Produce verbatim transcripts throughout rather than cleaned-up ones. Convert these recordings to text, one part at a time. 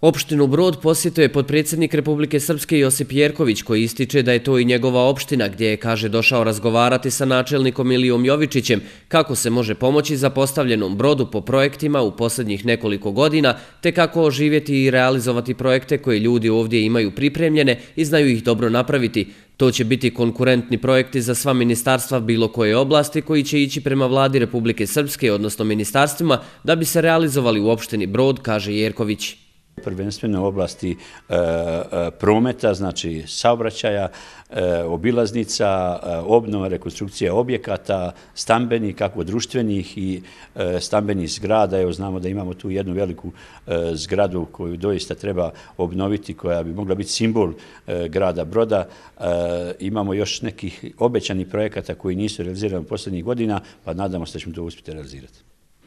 Opštinu Brod posjetio je potpredsjednik Republike Srpske Josip Jerković, koji ističe da je to i njegova opština, gdje je, kaže, došao razgovarati sa načelnikom Ilijom Jovičićem kako se može pomoći zapostavljenom Brodu po projektima u posljednjih nekoliko godina, te kako oživjeti i realizovati projekte koje ljudi ovdje imaju pripremljene i znaju ih dobro napraviti. To će biti konkurentni projekti za sva ministarstva bilo koje oblasti koji će ići prema vladi Republike Srpske, odnosno ministarstvima, da bi se realizovali u opštini Brod, kaže Jerković. Prvenstveno u oblasti e, e, prometa, znači saobraćaja, e, obilaznica, e, obnova, rekonstrukcija objekata, stambenih, kako društvenih i e, stambenih zgrada. Evo, znamo da imamo tu jednu veliku e, zgradu koju doista treba obnoviti, koja bi mogla biti simbol e, grada Broda. E, imamo još nekih obećanih projekata koji nisu realizirani u posljednjih godina, pa nadamo se da ćemo to uspjeti realizirati.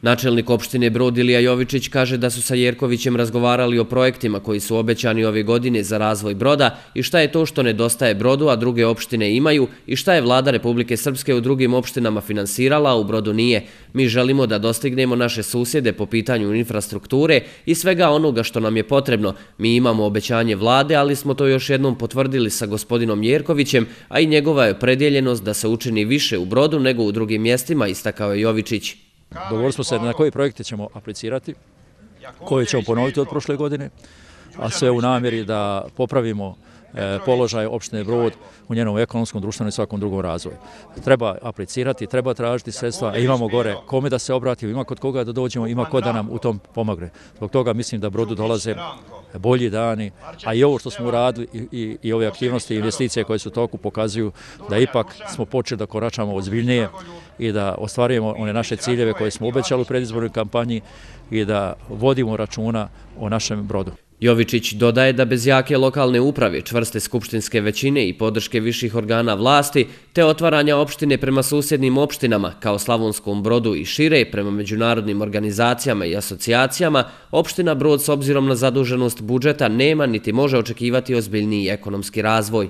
Načelnik opštine Brod Ilija Jovičić kaže da su sa Jerkovićem razgovarali o projektima koji su obećani ove godine za razvoj Broda i šta je to što nedostaje Brodu, a druge opštine imaju, i šta je vlada Republike Srpske u drugim opštinama finansirala, a u Brodu nije. Mi želimo da dostignemo naše susjede po pitanju infrastrukture i svega onoga što nam je potrebno. Mi imamo obećanje vlade, ali smo to još jednom potvrdili sa gospodinom Jerkovićem, a i njegova je opredjeljenost da se učini više u Brodu nego u drugim mjestima, istakao je Jovičić. Dogovorili smo se na koje projekte ćemo aplicirati, koje ćemo ponoviti od prošle godine, a sve u namjeri da popravimo položaj opštine Brod u njenom ekonomskom, društvenom i svakom drugom razvoju. Treba aplicirati, treba tražiti sredstva, a imamo gore kome da se obratimo, ima kod koga da dođemo, ima ko da nam u tom pomogne. Zbog toga mislim da Brodu dolaze bolji dani, a i ovo što smo uradili i, i, i ove aktivnosti i investicije koje su u toku pokazuju da ipak smo počeli da koračamo ozbiljnije i da ostvarujemo one naše ciljeve koje smo obećali u predizbornoj kampanji i da vodimo računa o našem Brodu. Jovičić dodaje da bez jake lokalne uprave, čvrste skupštinske većine i podrške viših organa vlasti, te otvaranja opštine prema susjednim opštinama, kao Slavonskom Brodu i šire, prema međunarodnim organizacijama i asocijacijama, opština Brod s obzirom na zaduženost budžeta nema niti može očekivati ozbiljniji ekonomski razvoj.